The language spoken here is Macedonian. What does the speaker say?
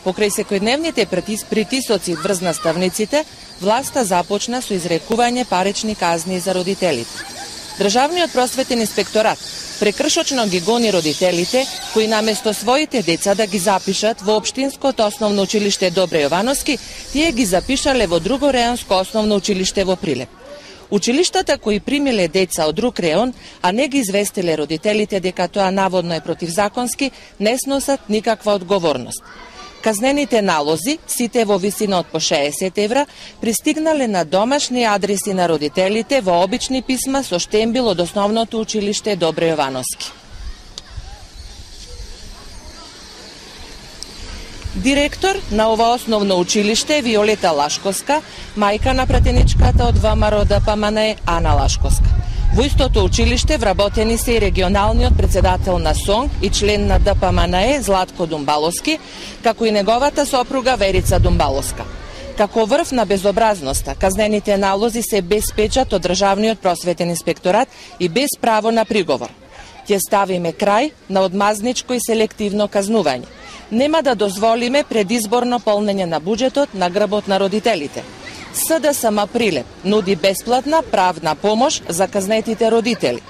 Покрај секојдневните притисоци врз наставниците, власта започна со изрекување парични казни за родителите. Државниот просветен инспекторат прекршочно ги гони родителите кои наместо своите деца да ги запишат во општинското основно училиште Добре Јовановски, тие ги запишале во друго реонско основно училиште во Прилеп. Училиштата кои примиле деца од друг реон, а не ги известиле родителите дека тоа наводно е противзаконски, не сносат никаква одговорност. Казнените налози, сите во висина од по 60 евра, пристигнале на домашни адреси на родителите во обични писма со штембил од основното училиште Добре Јовановски. Директор на ова основно училиште Виолета Лашковска, мајка на пратеничката од ВМРО ДПМНЕ Ана Лашковска. Во истото училиште вработени се и регионалниот председател на СОНГ и член на ДПМНЕ Златко Думбаловски, како и неговата сопруга Верица Думбаловска. Како врв на безобразноста, казнените налози се без печат од Државниот просветен инспекторат и без право на приговор. Ќе ставиме крај на одмазничко и селективно казнување. Нема да дозволиме предизборно полнење на буџетот на грбот на родителите. СДСМ Прилеп нуди бесплатна правна помош за казнетите родители.